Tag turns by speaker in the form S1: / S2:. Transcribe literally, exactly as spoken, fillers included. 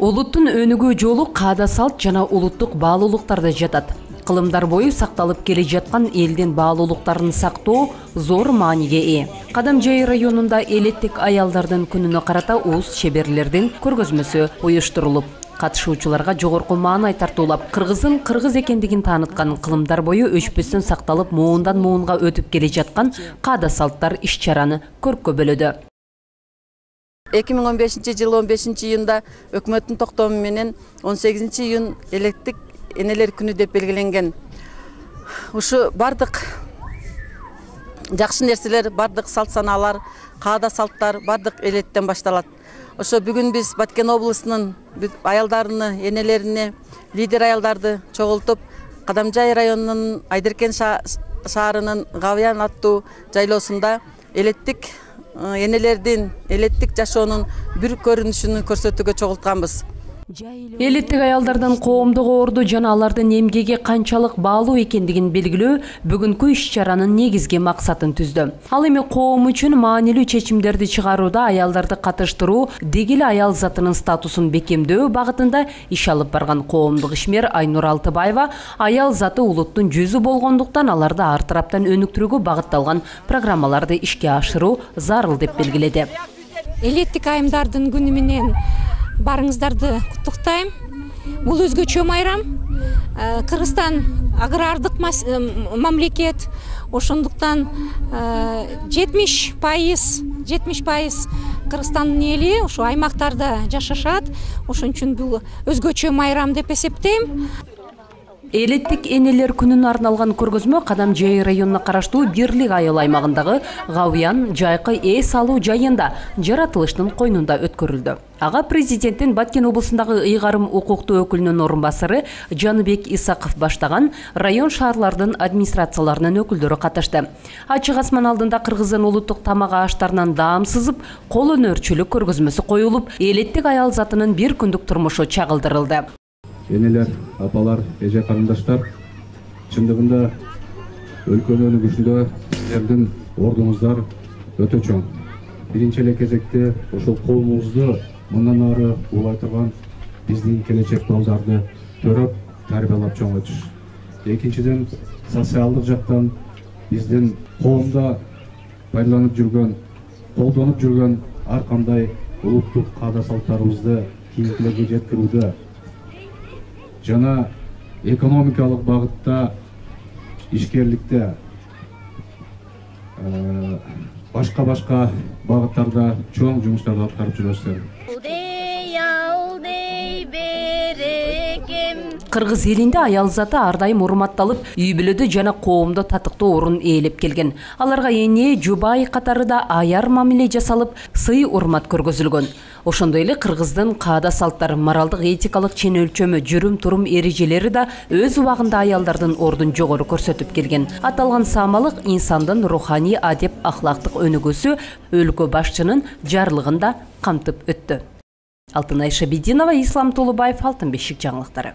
S1: Улуттун өнүгүү жолу каада салт жана улуттук баалуулуктарда жатат. Кылымдар бою сакталып келе жаткан элдин баалуулуктарын сактоо зор мааниге ээ. Кадамжай районунда элеттик аялдардын күнүнө карата уус шеберлердин көргөзмөсү уюштурулуп, катышуучуларга жогорку маанай тартуулап, кыргыздын кыргыз экендигин тааныткан, кылымдар бою өчпөстөн сакталып, муундан муунга өтүп келе жаткан каада салттар иш-чараны көрккө бөлөдү.
S2: эки миң он бешинчи жылы он бешинчи июнда өкмөттүн токтому менен он сегизинчи июн элеттик энелер күнү деп белгиленген. Ушу бардык жакшы нерселер, бардык салт санаалар, каада салттар бардык элеттен башталат. Ошо бүгүн биз Баткен облусунун аялдарыны, энелерине, лидер аялдарды чогултуп, Кадамжай районунун Айдеркен шаарынын Гавян аттуу жайлоосунда элеттик энелердин, элеттик жашоонун бир көрүнүшүн көрсөтүүгө чогултканбыз.
S1: Элеттик аялдардын коомдук орду жана алардын эмгеги канчалык баалуу экендигин белгилөө бүгүнкү иш-чаранын негизги максатын түздү. Ал эми коом үчүн маанилүү чечимдерди чыгарууда аялдарды катыштыруу, деги эле аял затынын статусун бекемдөө багытында иш алып барган коомдук ишмер Айнур Алтыбаева аял заты улуттун жүзү болгондуктан аларды ар тараптан өнүктүрүүгө багытталган программаларды ишке ашыруу зарыл деп белгиледи.
S3: Элеттик айымдардын күнү менен барыңыздарды куттуктайм. Бул өзгөчө майрам. Кыргызстан агрардык мамлекет. Ошондуктан жетимиш пайыз Кыргызстандын эли ошо аймактарда жашашат. Ошон үчүн бул өзгөчө майрам деп эсептейм.
S1: Элеттик энелер күнүнө арналган көргөзмө Кадамжай районуна караштуу Бирлик айыл аймагындагы Гавян жайкы эс алуу жайында жаратылыштын койнунда өткөрүлдү. Ага президенттин Баткен облусундагы ыйгарым укуктуу өкүлүнүн орун басары Жаныбек Исаков баштаган район шаарлардын администрацияларынын өкүлдөрү катышты. Ачык асман алдында кыргыздын улуттук тамак аштарынан даам сызып, кол өнөрчүлүк көргөзмөсү коюлуп, элеттик аял затынын бир күндүк турмушу чагылдырылды.
S4: Энелер, апалар, эже карындаштар, чындыгында өлкөнүн өнүгүшүндө сиздердин ордуңуздар өтө чоң. Биринчи эле кезекте ошол коомубузду мындан ары улай турган биздин келечек балдарды төрөп, тарбиялап чоңойтуш. Экинчиден, социалдык жактан биздин коомдо пайдаланып жүргөн, колдонуп жүргөн ар кандай улуттук каада салттарыбызды кийинкилерге жеткирүүдө жана экономикалык багытта, ишкерликте, башка-башка багыттарда чоң жумуштарды аткарып жүрөсүздөр.
S1: Кыргыз элинде аял заты ар дайым урматталып, үй бүлөдө жана коомдо татыктуу орун ээлеп келген. Аларга эне, жубай катары да аяр мамиле жасалып, сый урмат көргөзүлгөн. Ошондой эле кыргыздын каада салттар, моралдык этикалык чен өлчөмү, жүрүм-турум эрежелери да өз убагында аялдардын ордун жогору көрсөтүп келген. Аталган саамалык инсандын руханий, адеп, ахлактык өнүгүүсү өлкө башчынын жарлыгында камтып өттү. Алтынай Шабидинова, Ислам Толубаев, Алтын бешик жаңылыктары.